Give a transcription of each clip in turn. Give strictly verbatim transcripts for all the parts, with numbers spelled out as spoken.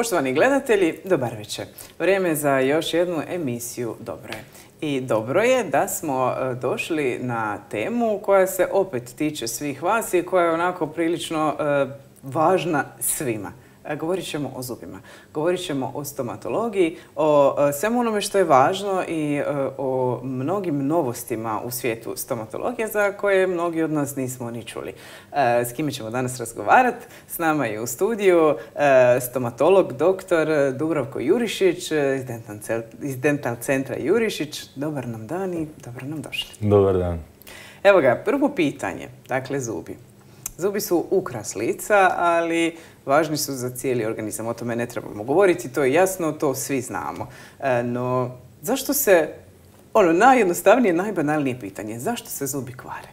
Poštovani gledatelji, dobar večer. Vrijeme je za još jednu emisiju Dobro je. I dobro je da smo došli na temu koja se opet tiče svih vas i koja je onako prilično e, važna svima. Govorit ćemo o zubima, govorit ćemo o stomatologiji, o svemu onome što je važno i o mnogim novostima u svijetu stomatologije za koje mnogi od nas nismo ni čuli. S kime ćemo danas razgovarati? S nama je u studiju stomatolog doktor Dubravko Jurišić iz Dental centra Jurišić. Dobar nam dan i dobro nam došli. Dobar dan. Evo ga, prvo pitanje, dakle zubi. Zubi su ukras lica, ali važni su za cijeli organizam. O tome ne trebamo govoriti, to je jasno, to svi znamo. E, no, zašto se, ono najjednostavnije, najbanalnije pitanje, zašto se zubi kvare?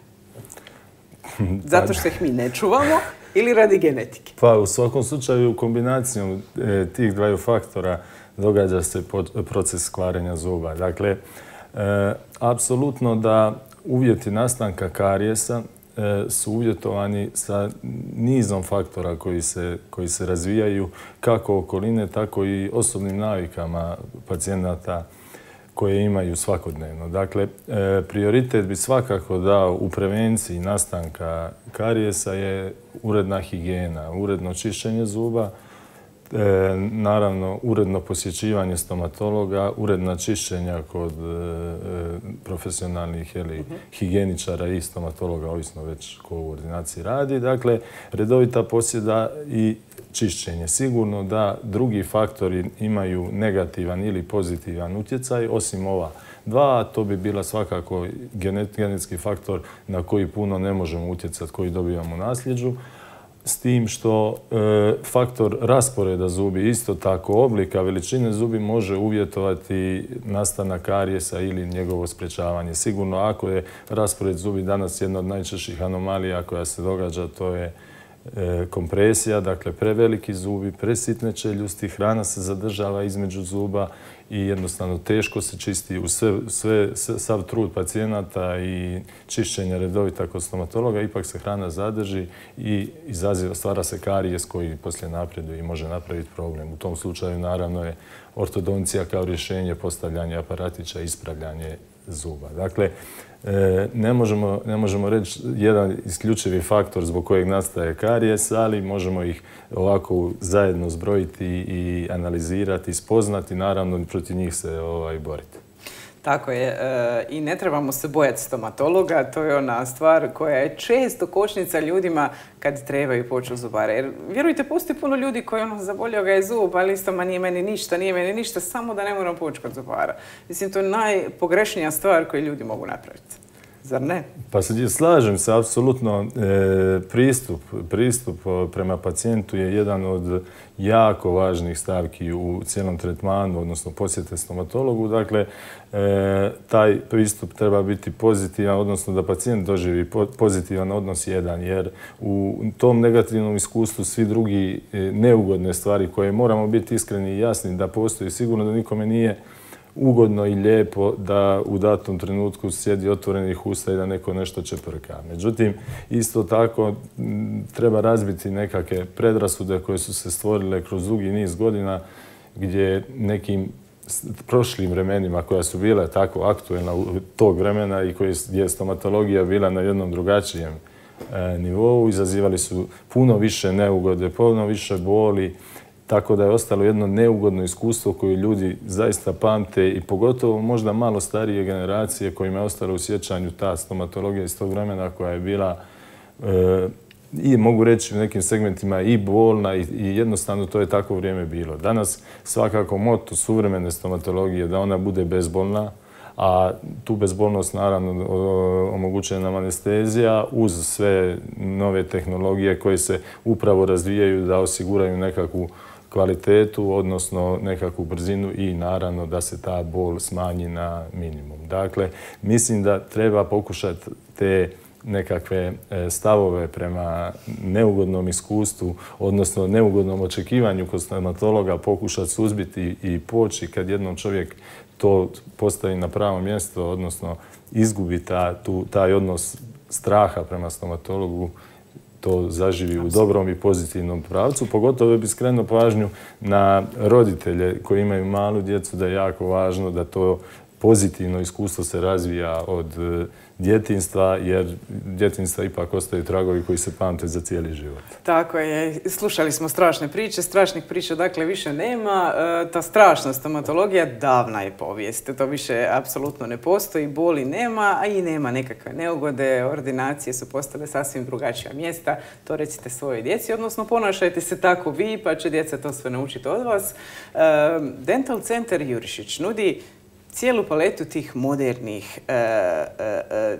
Zato što ih mi ne čuvamo ili radi genetike? Pa u svakom slučaju kombinacijom e, tih dvaju faktora događa se proces kvarenja zuba. Dakle, e, apsolutno da uvjeti nastanka karijesa su uvjetovani sa nizom faktora koji se, koji se razvijaju kako okoline, tako i osobnim navikama pacijenata koje imaju svakodnevno. Dakle, prioritet bi svakako dao u prevenciji nastanka karijesa je uredna higijena, uredno čišćenje zuba, E, naravno, uredno posjećivanje stomatologa, uredna čišćenja kod e, profesionalnih jeli, uh-huh. higijeničara i stomatologa, ovisno već ko u ordinaciji radi. Dakle, redovita posjeda i čišćenje. Sigurno da drugi faktori imaju negativan ili pozitivan utjecaj, osim ova dva, to bi bila svakako genet, genetski faktor na koji puno ne možemo utjecati, koji dobivamo u nasljeđu. S tim što e, faktor rasporeda zubi, isto tako oblika, veličine zubi može uvjetovati nastanak karijesa ili njegovo sprječavanje. Sigurno ako je raspored zubi danas jedna od najčešćih anomalija koja se događa, to je e, kompresija, dakle preveliki zubi, presitne čeljusti, hrana se zadržava između zuba i jednostavno teško se čisti u sve, sve, sav trud pacijenata i čišćenja redovita kod stomatologa, ipak se hrana zadrži i izaziva, stvara se karijes koji poslije napreduje i može napraviti problem. U tom slučaju naravno je ortodoncija kao rješenje, postavljanje aparatića, ispravljanje zuba. Dakle, ne možemo, ne možemo reći jedan isključivi faktor zbog kojeg nastaje karijes, ali možemo ih ovako zajedno zbrojiti i analizirati, spoznati, naravno protiv njih se ovaj, boriti. Tako je. E, I ne trebamo se bojati stomatologa, to je ona stvar koja je često kočnica ljudima kad trebaju poći u zubare. Jer, vjerujte, postoji puno ljudi koji ono, zabolio ga je zub, ali isto, ma nije meni ništa, nije meni ništa, samo da ne moram poći kod zubara. Mislim, to je najpogrešnija stvar koju ljudi mogu napraviti. Zar ne? Pa se slažem se, apsolutno. E, pristup, pristup prema pacijentu je jedan od jako važnih stavki u cijelom tretmanu, odnosno posjete stomatologu. Dakle, e, taj pristup treba biti pozitivan, odnosno da pacijent doživi pozitivan odnos jedan, jer u tom negativnom iskustvu svi drugi neugodne stvari koje moramo biti iskreni i jasni da postoji, sigurno da nikome nije ugodno i lijepo da u datom trenutku sjedi otvorenih usta i da neko nešto čeprka. Međutim, isto tako treba razbiti nekakve predrasude koje su se stvorile kroz dugi niz godina gdje nekim prošlim vremenima koja su bila tako aktuelna u tog vremena i gdje je stomatologija bila na jednom drugačijem e, nivou, izazivali su puno više neugode, puno više boli, tako da je ostalo jedno neugodno iskustvo koje ljudi zaista pamte i pogotovo možda malo starije generacije kojima je ostalo u sjećanju ta stomatologija iz tog vremena koja je bila e, i mogu reći u nekim segmentima i bolna i, i jednostavno to je tako vrijeme bilo. Danas svakako moto suvremene stomatologije je da ona bude bezbolna, a tu bezbolnost naravno omogućuje nam anestezija uz sve nove tehnologije koje se upravo razvijaju da osiguraju nekakvu kvalitetu, odnosno nekakvu brzinu i naravno da se ta bol smanji na minimum. Dakle, mislim da treba pokušati te nekakve stavove prema neugodnom iskustvu, odnosno neugodnom očekivanju kod stomatologa pokušati suzbiti i poći kad jednom čovjek to postavi na pravo mjesto, odnosno izgubi ta, tu, taj odnos straha prema stomatologu, to zaživi u dobrom i pozitivnom pravcu. Pogotovo bi skrenuo pažnju na roditelje koji imaju malu djecu, da je jako važno da to pozitivno iskustvo se razvija od djetinjstva, jer djetinjstva ipak ostaju tragovi koji se pamte za cijeli život. Tako je. Slušali smo strašne priče. Strašnih priča dakle više nema. E, ta strašna stomatologija davna je povijest. To više apsolutno ne postoji. Boli nema, a i nema nekakve neugode. Ordinacije su postale sasvim drugačija mjesta. To recite svojoj djeci, odnosno ponašajte se tako vi, pa će djeca to sve naučiti od vas. E, Dental Centar Jurišić nudi cijelu paletu tih modernih e, e,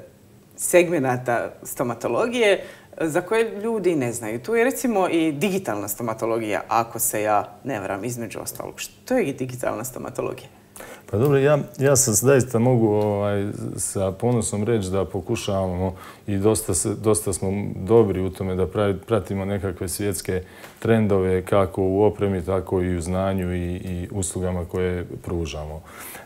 segmenata stomatologije za koje ljudi ne znaju. Tu je recimo i digitalna stomatologija, ako se ja ne varam, između ostalog. Što je digitalna stomatologija? Pa dobro, ja, ja sam zaista mogu ovaj, sa ponosom reći da pokušavamo i dosta, se, dosta smo dobri u tome da pratimo nekakve svjetske trendove kako u opremi, tako i u znanju i, i uslugama koje pružamo.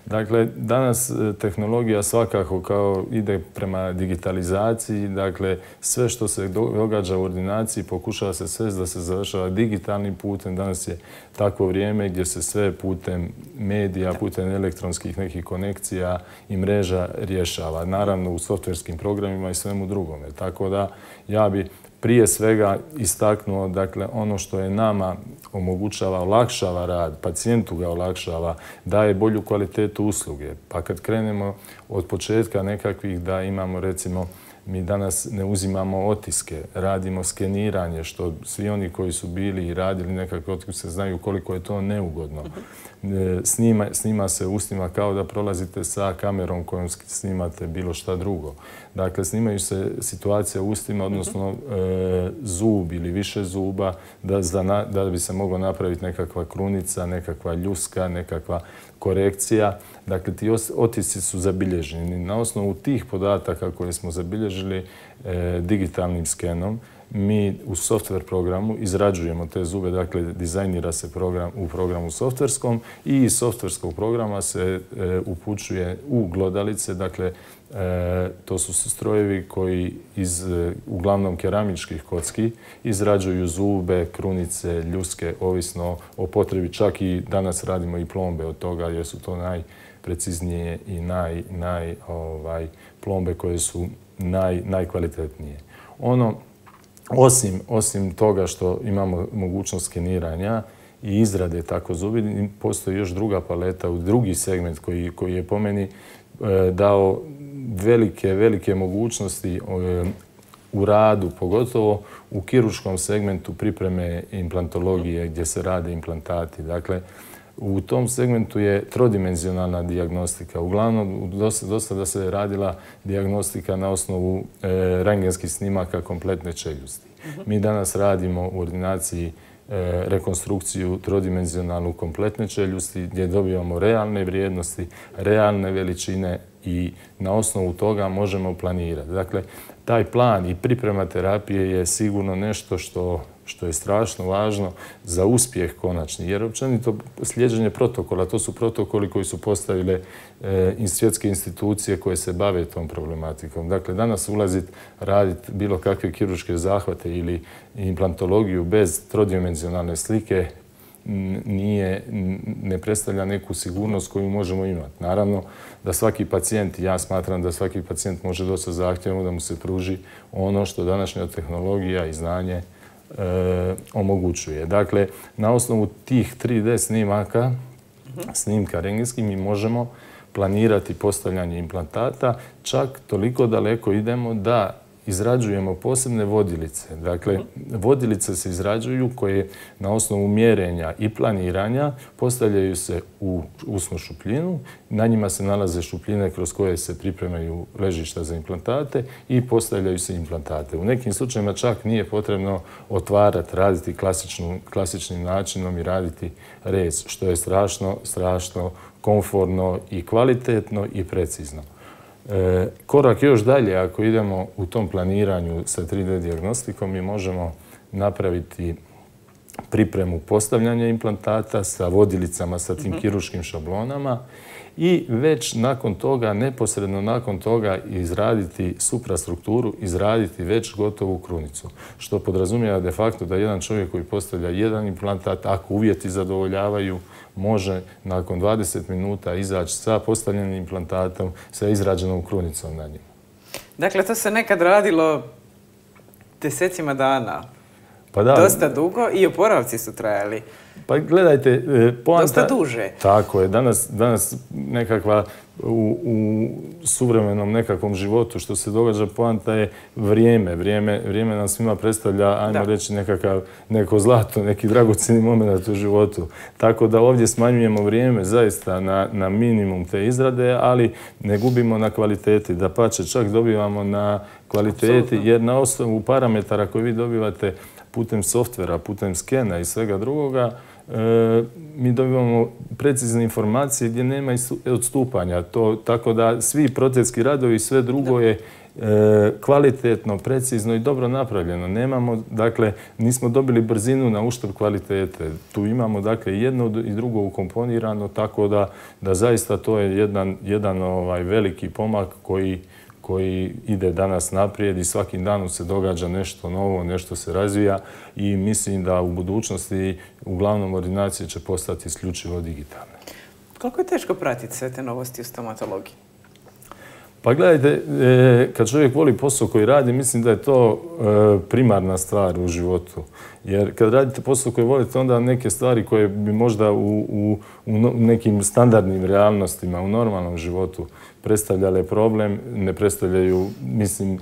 Dakle, danas tehnologija svakako kao ide prema digitalizaciji, dakle sve što se događa u ordinaciji pokušava se sve da se završava digitalnim putem. Danas je takvo vrijeme gdje se sve putem medija, putem elektronskih nekih konekcija i mreža rješava. Naravno u softverskim programima i svemu drugome. Tako da ja bi prije svega istaknuo, dakle, ono što je nama omogućava, olakšava rad, pacijentu ga olakšava, daje bolju kvalitetu usluge. Pa kad krenemo od početka nekakvih da imamo, recimo, mi danas ne uzimamo otiske, radimo skeniranje, što svi oni koji su bili i radili nekakve otiske znaju koliko je to neugodno. Snima, snima se ustima kao da prolazite sa kamerom kojom snimate bilo šta drugo. Dakle, snimaju se situacije u ustima, odnosno e, zub ili više zuba, da, da bi se mogla napraviti nekakva krunica, nekakva ljuska, nekakva korekcija. Dakle, ti otisci su zabilježeni. Na osnovu tih podataka koje smo zabilježili e, digitalnim skenom, mi u software programu izrađujemo te zube, dakle dizajnira se program u programu softverskom i iz softverskog programa se e, upućuje u glodalice, dakle e, to su strojevi koji iz e, uglavnom keramičkih kocki izrađuju zube, krunice, ljuske, ovisno o potrebi. Čak i danas radimo i plombe od toga jer su to najpreciznije i naj, naj, ovaj, plombe koje su naj, najkvalitetnije. Ono Osim, osim toga što imamo mogućnost skeniranja i izrade tako zubi, postoji još druga paleta, drugi segment koji, koji je po meni e, dao velike, velike mogućnosti e, u radu, pogotovo u kirurškom segmentu pripreme implantologije gdje se rade implantati. Dakle, u tom segmentu je trodimenzionalna dijagnostika. Uglavnom, dosta, dosta da se radila dijagnostika na osnovu e, rentgenskih snimaka kompletne čeljusti. Uh-huh. Mi danas radimo u ordinaciji e, rekonstrukciju trodimenzionalnu kompletne čeljusti gdje dobivamo realne vrijednosti, realne veličine i na osnovu toga možemo planirati. Dakle, taj plan i priprema terapije je sigurno nešto što što je strašno važno za uspjeh konačni. Jer općenito slijeđenje protokola, to su protokoli koji su postavile e, svjetske institucije koje se bave tom problematikom. Dakle, danas ulaziti, raditi bilo kakve kirurške zahvate ili implantologiju bez trodimenzionalne slike nije, ne predstavlja neku sigurnost koju možemo imati. Naravno da svaki pacijent, ja smatram da svaki pacijent može dosta zahtjevno da mu se pruži ono što današnja tehnologija i znanje E, omogućuje. Dakle, na osnovu tih tri D snimaka, snimka rentgenskih, mi možemo planirati postavljanje implantata. Čak toliko daleko idemo da izrađujemo posebne vodilice. Dakle, vodilice se izrađuju koje na osnovu mjerenja i planiranja postavljaju se u usnu šupljinu. Na njima se nalaze šupljine kroz koje se pripremaju ležišta za implantate i postavljaju se implantate. U nekim slučajima čak nije potrebno otvarati, raditi klasičnim načinom i raditi rez, što je strašno, strašno komfortno i kvalitetno i precizno. E, korak još dalje, ako idemo u tom planiranju sa tri D dijagnostikom, mi možemo napraviti pripremu postavljanja implantata sa vodilicama, sa tim kirurškim šablonama i već nakon toga, neposredno nakon toga izraditi suprastrukturu, izraditi već gotovu krunicu. Što podrazumijeva de facto da jedan čovjek koji postavlja jedan implantat, ako uvjeti zadovoljavaju, može nakon dvadeset minuta izaći sa postavljenim implantatom, sa izrađenom krunicom na njemu. Dakle, to se nekad radilo desecima dana. Pa da, dosta dugo i oporavci su trajali. Pa gledajte, poanta... Dosta duže. Tako je. Danas, danas nekakva u, u suvremenom nekakvom životu što se događa, poanta je vrijeme. Vrijeme, vrijeme nam svima predstavlja, ajmo da. reći, nekakav, neko zlato, neki dragocjeni moment u životu. Tako da ovdje smanjujemo vrijeme zaista na, na minimum te izrade, ali ne gubimo na kvaliteti. Dapače, čak dobivamo na kvaliteti, Absolutno. jer na osnovu parametara koje vi dobivate putem softvera, putem skena i svega drugoga, e, mi dobivamo precizne informacije gdje nema odstupanja. To, tako da svi protetski radovi i sve drugo je e, kvalitetno, precizno i dobro napravljeno. Nemamo, dakle, nismo dobili brzinu na uštrb kvalitete. Tu imamo, dakle, jedno i drugo ukomponirano, tako da, da zaista to je jedan, jedan ovaj, veliki pomak koji koji ide danas naprijed i svakim danom se događa nešto novo, nešto se razvija i mislim da u budućnosti uglavnom ordinacije će postati isključivo digitalne. Koliko je teško pratiti sve te novosti u stomatologiji? Pa gledajte, kad čovjek voli posao koji radi, mislim da je to primarna stvar u životu. Jer kad radite posao koji volite, onda neke stvari koje bi možda u, u, u nekim standardnim realnostima, u normalnom životu predstavljale problem, ne predstavljaju, mislim,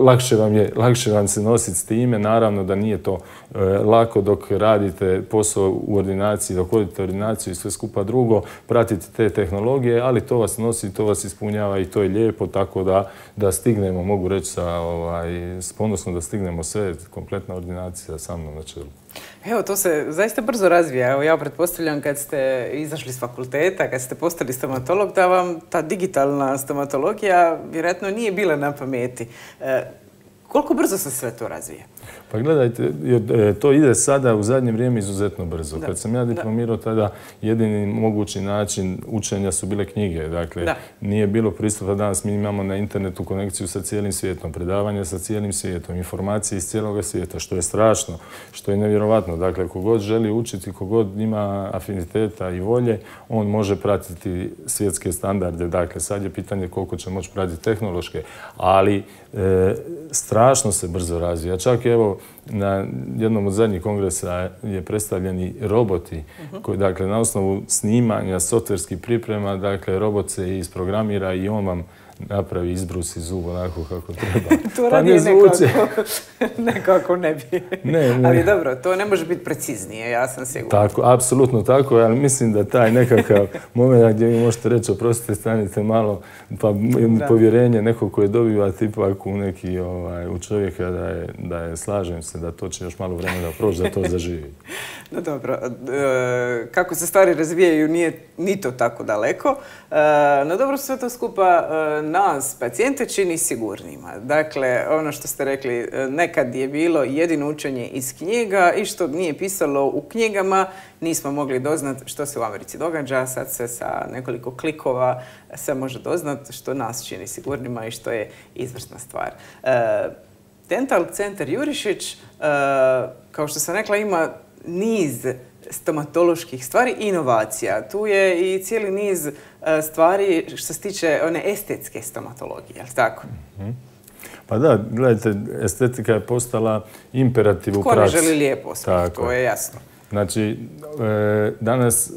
lakše vam je, lakše vam se nositi s time. Naravno da nije to e, lako dok radite posao u ordinaciji, dok vodite ordinaciju i sve skupa drugo, pratite te tehnologije, ali to vas nosi, to vas ispunjava i to je lijepo, tako da, da stignemo, mogu reći sa, ovaj, s ponosno da stignemo sve, kompletna ordinacija sa mnom na čelu. Evo, to se zaista brzo razvija. Evo, ja pretpostavljam kad ste izašli s fakulteta, kad ste postali stomatolog, da vam ta digitalna stomatologija vjerojatno nije bila na pameti. E, koliko brzo se sve to razvija? Pa gledajte, to ide sada u zadnje vrijeme izuzetno brzo. Da. Kad sam ja diplomirao, tada jedini mogući način učenja su bile knjige. Dakle, da. nije bilo pristupa. Danas mi imamo na internetu konekciju sa cijelim svijetom, predavanja sa cijelim svijetom, informacije iz cijeloga svijeta, što je strašno, što je nevjerovatno. Dakle, kogod želi učiti, kogod ima afiniteta i volje, on može pratiti svjetske standarde. Dakle, sad je pitanje koliko će moći pratiti tehnološke, ali e, strašno se brzo razvija. Čak evo, na jednom od zadnjih kongresa je predstavljeni roboti koji, dakle, na osnovu snimanja, softverskih priprema, dakle, robot se isprogramira i on vam napravi, izbrusi zub onako kako treba. To radi pa nekako, nekako ne bi. Ne, ne. Ali dobro, to ne može biti preciznije, ja sam sigurna. Tako, apsolutno tako, ali mislim da taj nekakav moment gdje vi možete reći, oprostite, stanite malo, pa da. povjerenje nekog koje dobivate ipak u neki, ovaj, u čovjeka da je, da je, slažem se, da to će još malo vremena proći da to zaživi. No dobro, e, kako se stvari razvijaju nije ni to tako daleko. E, no dobro, sve to skupa e, nas, pacijente, čini sigurnima. Dakle, ono što ste rekli, nekad je bilo jedino učenje iz knjiga i što nije pisalo u knjigama, nismo mogli doznat što se u Americi događa. Sad se sa nekoliko klikova se može doznat što nas čini sigurnima i što je izvrsna stvar. E, Dental centar Jurišić, e, kao što sam rekla, ima niz stomatoloških stvari i inovacija. Tu je i cijeli niz stvari što se tiče one estetske stomatologije, je li tako? Mm-hmm. Pa da, gledajte, estetika je postala imperativ u praksi. Ko ne želi lijepo, to je jasno. Znači, e, danas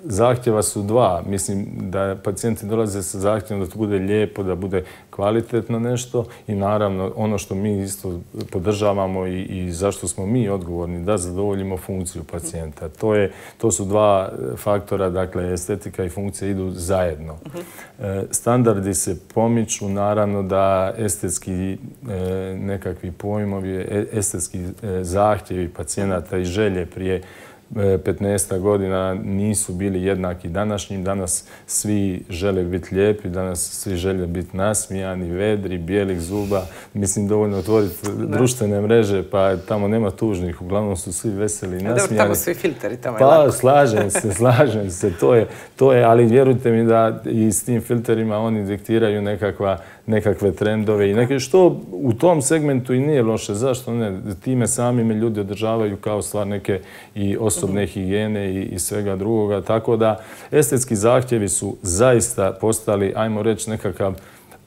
zahtjeva su dva. Mislim da pacijenti dolaze sa zahtjevom da to bude lijepo, da bude kvalitetno nešto i naravno ono što mi isto podržavamo i, i zašto smo mi odgovorni da zadovoljimo funkciju pacijenta. To, je, to su dva faktora, dakle estetika i funkcija idu zajedno. E, standardi se pomiču, naravno da estetski e, nekakvi pojmovi, estetski e, zahtjevi pacijenata i želje prije petnaest godina nisu bili jednaki današnjim. Danas svi žele biti lijepi, danas svi žele biti nasmijani, vedri, bijelih zuba. Mislim, dovoljno otvoriti društvene mreže, pa tamo nema tužnih. Uglavnom su svi veseli i nasmijani. Dobro, tamo su i filteri, tamo je pa, lako. Pa, slažem se, slažem se. To je, to je, ali vjerujte mi da i s tim filterima oni diktiraju nekakva, nekakve trendove i neke, što u tom segmentu i nije loše. Zašto ne? Time sami me ljudi održavaju kao stvar neke i osobne higijene i, i svega drugoga. Tako da estetski zahtjevi su zaista postali, ajmo reći, nekakav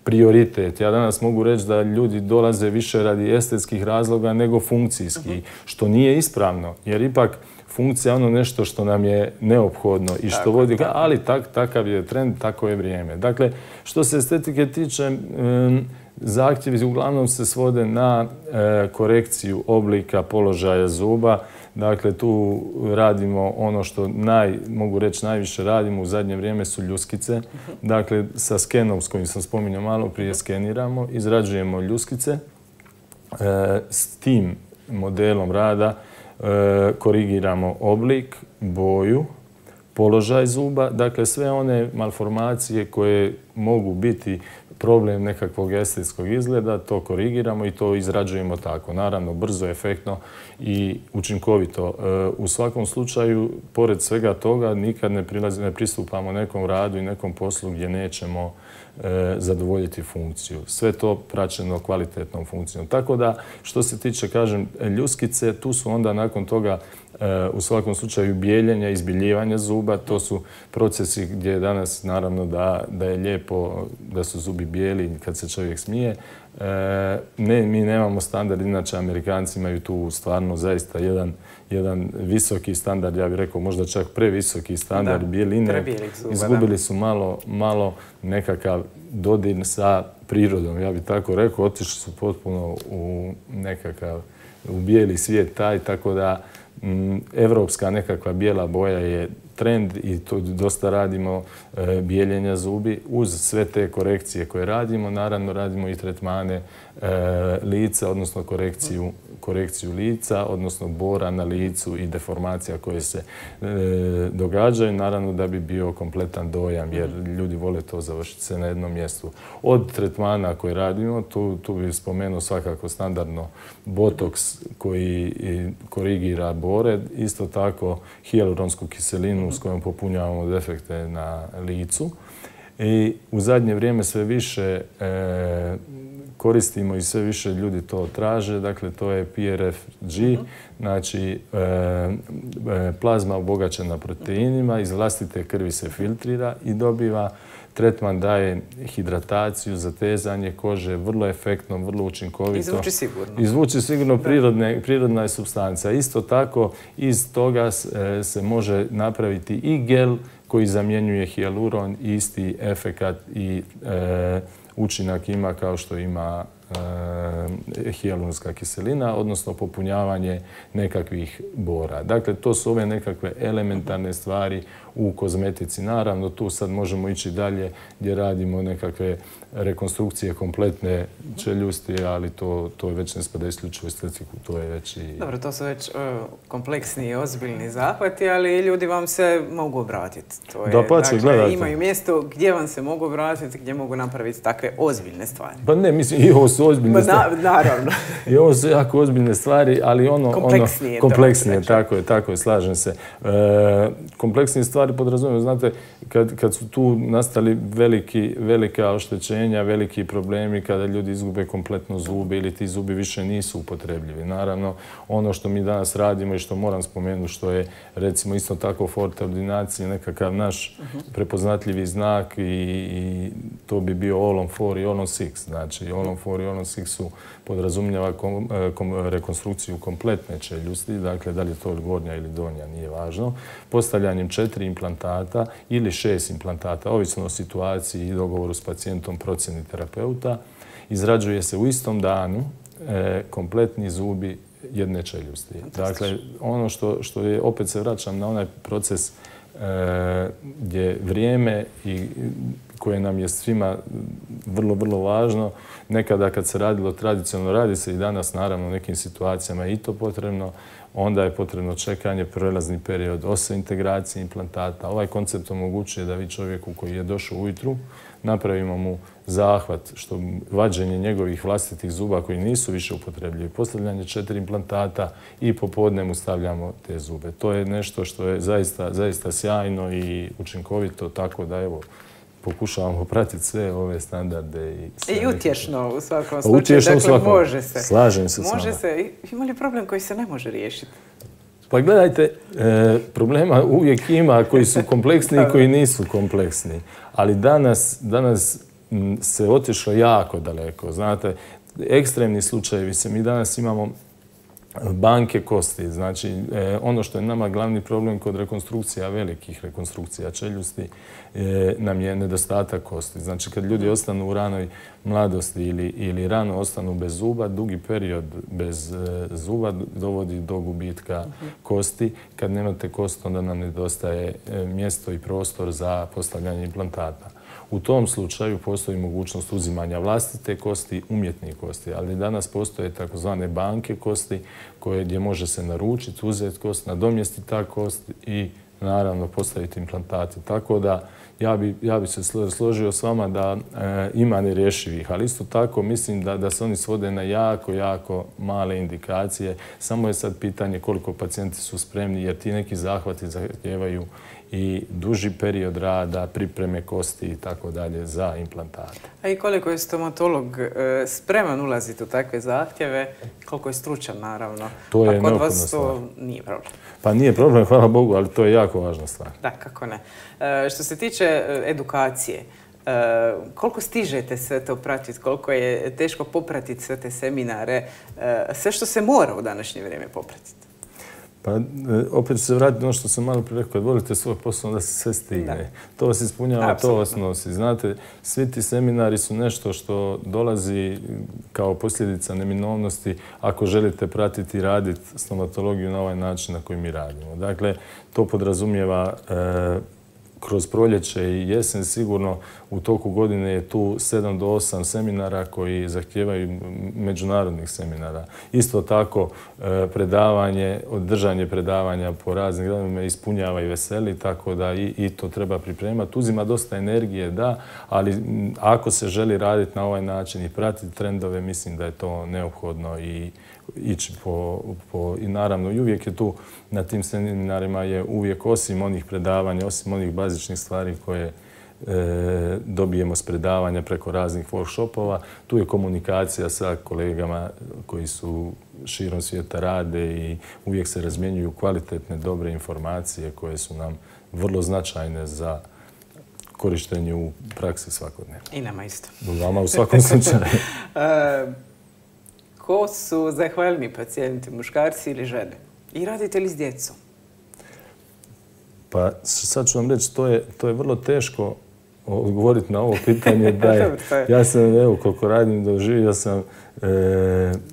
prioritet. Ja danas mogu reći da ljudi dolaze više radi estetskih razloga nego funkcijskih, što nije ispravno, jer ipak funkcija je ono nešto što nam je neophodno i što vodi, ali tak, takav je trend, tako je vrijeme. Dakle, što se estetike tiče, zahtjevi uglavnom se svode na korekciju oblika, položaja zuba. Dakle, tu radimo ono što naj, mogu reći najviše radimo u zadnje vrijeme su ljuskice. Dakle, sa skenom s kojim sam spominjao malo prije skeniramo, izrađujemo ljuskice. S tim modelom rada korigiramo oblik, boju, položaj zuba, dakle sve one malformacije koje mogu biti problem nekakvog estetskog izgleda, to korigiramo i to izrađujemo tako. Naravno, brzo, efektno i učinkovito. U svakom slučaju, pored svega toga, nikad ne, prilazi, ne pristupamo nekom radu i nekom poslu gdje nećemo zadovoljiti funkciju. Sve to praćeno kvalitetnom funkcijom. Tako da, što se tiče, kažem, ljuskice, tu su onda nakon toga u svakom slučaju bijeljenja, izbiljivanja zuba. To su procesi gdje danas, naravno, da, da je lijepo da su zubi bijeli kad se čovjek smije. Ne, mi nemamo standard, inače Amerikanci imaju tu stvarno zaista jedan, jedan visoki standard, ja bih rekao možda čak previsoki standard bijeline. Izgubili su malo, malo nekakav dodir sa prirodom, ja bih tako rekao. Otišli su potpuno u nekakav, u bijeli svijet taj, tako da evropska nekakva bijela boja je trend i to dosta radimo bijeljenja zubi. Uz sve te korekcije koje radimo, naravno radimo i tretmane lica, odnosno korekciju, korekciju lica, odnosno bora na licu i deformacija koje se događaju, naravno da bi bio kompletan dojam, jer ljudi vole to završiti se na jednom mjestu. Od tretmana koje radimo, tu, tu bih spomenuo svakako standardno botoks koji korigira bore, isto tako hijaluronsku kiselinu s kojom popunjavamo defekte na licu. I u zadnje vrijeme sve više e, koristimo i sve više ljudi to traže. Dakle, to je P R F G, znači e, plazma obogaćena proteinima, iz vlastite krvi se filtrira i dobiva tretman, daje hidrataciju, zatezanje kože, vrlo efektno, vrlo učinkovito. Izvuči sigurno. Izvuči sigurno, prirodne, prirodna je supstanca. Isto tako, iz toga se može napraviti i gel koji zamjenjuje hijaluron, isti efekat i e, učinak ima kao što ima e, hijaluronska kiselina, odnosno popunjavanje nekakvih bora. Dakle, to su ove nekakve elementarne stvari u kozmetici. Naravno, tu sad možemo ići dalje gdje radimo nekakve rekonstrukcije kompletne čeljusti, ali to, to već ne spada isključivo estetiku, to je već i... Dobro, to su već uh, kompleksni i ozbiljni zahvati, ali ljudi vam se mogu obratiti. To je, da, pa će, dakle, gledajte. Imaju mjesto gdje vam se mogu obratiti, gdje mogu napraviti takve ozbiljne stvari. Pa ne, mislim, i ovo su ozbiljne stvari. Na, naravno. I ovo su jako ozbiljne stvari, ali ono... Kompleksnije. Ono, kompleksnije, tako je, tako je, slažem se. E, kompleksnije stvari podrazumijemo, znate, kad, kad su tu nastali veliki, velika oštećenja, veliki problemi, kada ljudi izgube kompletno zube ili ti zubi više nisu upotrebljivi. Naravno, ono što mi danas radimo i što moram spomenuti, što je recimo isto tako forte ordinacije, nekakav naš prepoznatljivi znak i, i to bi bio all on four i all on six. Znači, all on four i all on six su podrazumijeva kom, kom, rekonstrukciju kompletne čeljusti, dakle, da li je to gornja ili donja, nije važno, postavljanjem četiri implantata ili šest implantata, ovisno o situaciji i dogovoru s pacijentom, procjeni terapeuta, izrađuje se u istom danu e, kompletni zubi jedne čeljusti. Dakle, ono što, što je, opet se vraćam na onaj proces e, gdje vrijeme i koje nam je svima vrlo, vrlo važno. Nekada kad se radilo tradicionalno, radi se i danas naravno u nekim situacijama i to potrebno. onda je potrebno čekanje, prelazni period oseintegracije implantata. Ovaj koncept omogućuje da vi čovjeku koji je došao ujutru napravimo mu zahvat, što vađenje njegovih vlastitih zuba koji nisu više upotrebljivi, postavljanje četiri implantata i popodne mu stavljamo te zube. To je nešto što je zaista, zaista sjajno i učinkovito, tako da evo, pokušavamo pratiti sve ove standarde. I, I utješno u svakom slučaju. Utješno dakle, u svakom. Može se. Slažem se s Može vama. se. Ima li problem koji se ne može riješiti? Pa gledajte, e, problema uvijek ima koji su kompleksni i koji nisu kompleksni. Ali danas, danas m, se otišlo jako daleko. Znate, ekstremni slučajevi se, mi danas imamo banke kosti. Znači, e, ono što je nama glavni problem kod rekonstrukcija, velikih rekonstrukcija čeljusti, e, nam je nedostatak kosti. Znači, kad ljudi ostanu u ranoj mladosti ili, ili rano ostanu bez zuba, dugi period bez e, zuba dovodi do gubitka kosti. Kad nemate kost, onda nam nedostaje e, mjesto i prostor za postavljanje implantata. U tom slučaju postoji mogućnost uzimanja vlastite kosti, umjetnih kosti, ali danas postoje takozvane banke kosti koje, gdje može se naručiti, uzeti kost, nadomjestiti ta kost i naravno postaviti implantate. Tako da ja bi, ja bi se složio s vama da e, ima nerješivih, ali isto tako mislim da, da se oni svode na jako, jako male indikacije. Samo je sad pitanje koliko pacijenti su spremni, jer ti neki zahvati zahtijevaju i duži period rada, pripreme kosti i tako dalje za implantate. A i koliko je stomatolog spreman ulaziti u takve zahtjeve, koliko je stručan naravno. To je pa kod vas neophodna to stvar. nije problem. Pa nije problem, hvala Bogu, ali to je jako važna stvar. Da, kako ne. E, što se tiče edukacije, e, koliko stižete sve to pratiti, koliko je teško popratiti sve te seminare, e, sve što se mora u današnje vrijeme popratiti? Pa opet ću se vratiti ono što sam malo prije rekao, kad volite svoj posao, onda se sve stigne. Da. To vas ispunjava, to vas nosi. Znate, svi ti seminari su nešto što dolazi kao posljedica neminovnosti ako želite pratiti i raditi stomatologiju na ovaj način na koji mi radimo. Dakle, to podrazumijeva e, kroz proljeće i jesen sigurno u toku godine je tu sedam do osam seminara koji zahtijevaju međunarodnih seminara. Isto tako predavanje, održanje predavanja po raznim gradovima ispunjava i veseli, tako da i, i to treba pripremati. Uzima dosta energije, da, ali ako se želi raditi na ovaj način i pratiti trendove, mislim da je to neophodno i ići po, po, i naravno i uvijek je tu na tim seminarima je uvijek osim onih predavanja, osim onih bazičnih stvari koje e, dobijemo s predavanja preko raznih workshopova, tu je komunikacija sa kolegama koji su širom svijeta rade i uvijek se razmjenjuju kvalitetne, dobre informacije koje su nam vrlo značajne za korištenje u praksi svakodnevno. I nama isto. Vama u svakom slučaju. Ko su zahvalni pacijenti, muškarci ili žene? I radite li s djecom? Pa sad ću vam reći, to je, to je vrlo teško odgovoriti na ovo pitanje. Da je, ja sam, evo, koliko radim, doživio sam e,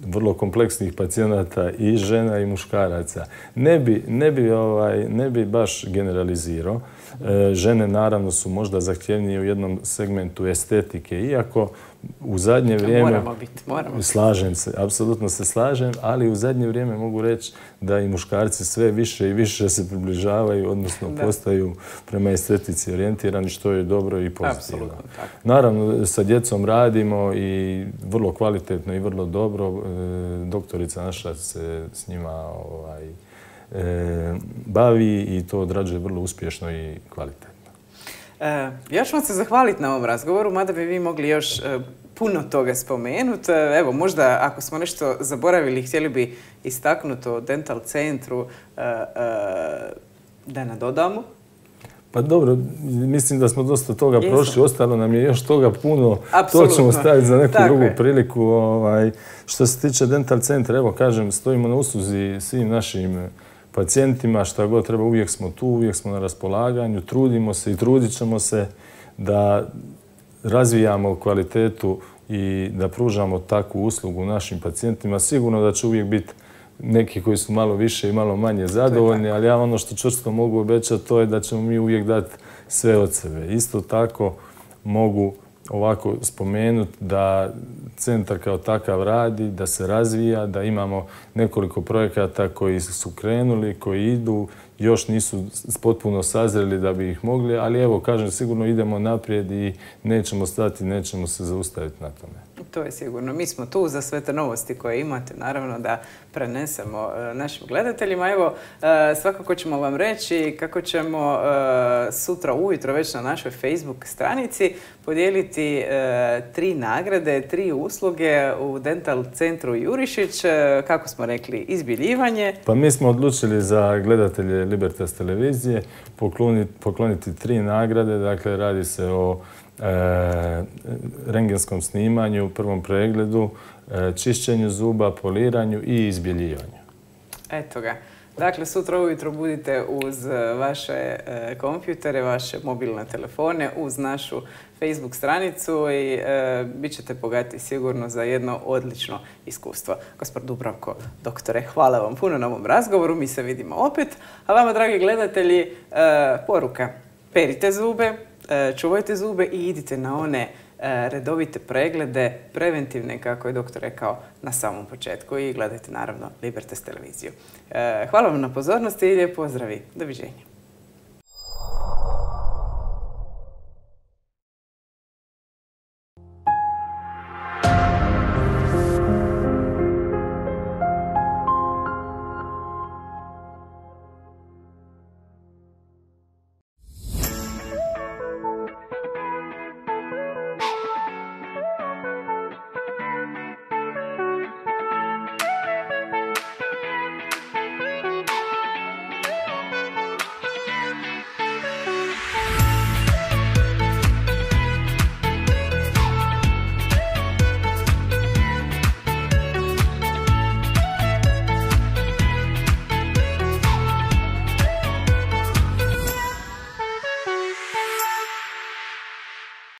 vrlo kompleksnih pacijenata i žena i muškaraca. Ne bi, ne bi, ovaj, ne bi baš generalizirao. E, žene naravno su možda zahtjevnije u jednom segmentu estetike, iako u zadnje vrijeme... Moramo biti, moramo. Slažem se, apsolutno se slažem, ali u zadnje vrijeme mogu reći da i muškarci sve više i više se približavaju, odnosno da. postaju prema estetici orijentirani, što je dobro i pozitivno. Naravno, sa djecom radimo i vrlo kvalitetno i vrlo dobro. Doktorica naša se s njima ovaj, e, bavi i to odrađuje vrlo uspješno i kvalitetno. E, ja ću vam se zahvaliti na ovom razgovoru, mada bi vi mogli još e, puno toga spomenuti. Evo, možda ako smo nešto zaboravili, htjeli bi istaknuti o Dental centru e, e, da nadodamo. Pa dobro, mislim da smo dosta toga Jesam. prošli, ostalo nam je još toga puno. Apsolutno. To ćemo staviti za neku Tako drugu je. priliku. Ovaj, što se tiče Dental centra, evo kažem, stojimo na usluzi svim našim pacijentima, šta god treba, uvijek smo tu, uvijek smo na raspolaganju, trudimo se i trudit ćemo se da razvijamo kvalitetu i da pružamo takvu uslugu našim pacijentima. Sigurno da će uvijek biti neki koji su malo više i malo manje zadovoljni, ali ja ono što čvrsto mogu obećati to je da ćemo mi uvijek dati sve od sebe. Isto tako mogu ovako spomenuti da centar kao takav radi, da se razvija, da imamo nekoliko projekata koji su krenuli, koji idu, još nisu potpuno sazreli da bi ih mogli, ali evo, kažem, sigurno idemo naprijed i nećemo stati, nećemo se zaustaviti na tome. To je sigurno. Mi smo tu za sve te novosti koje imate, naravno da prenesemo našim gledateljima. Evo, svakako ćemo vam reći kako ćemo sutra ujutro već na našoj Facebook stranici podijeliti tri nagrade, tri usluge u Dental centru Jurišić. Kako smo rekli, izbiljivanje. Pa mi smo odlučili za gledatelje Libertas televizije pokloniti, pokloniti tri nagrade. Dakle, radi se o E, rengenskom snimanju, prvom pregledu, e, čišćenju zuba, poliranju i izbjeljivanju. Eto ga. Dakle, sutra ujutro budite uz vaše e, kompjutere, vaše mobilne telefone, uz našu Facebook stranicu i e, bit ćete bogati sigurno za jedno odlično iskustvo. Gospod Dubravko, doktore, hvala vam puno na ovom razgovoru. Mi se vidimo opet. A vama, dragi gledatelji, e, poruka. Perite zube, čuvajte zube i idite na one redovite preglede, preventivne, kako je doktor rekao na samom početku, i gledajte naravno Libertas televiziju. Hvala vam na pozornosti i lijep pozdrav i doviđenja.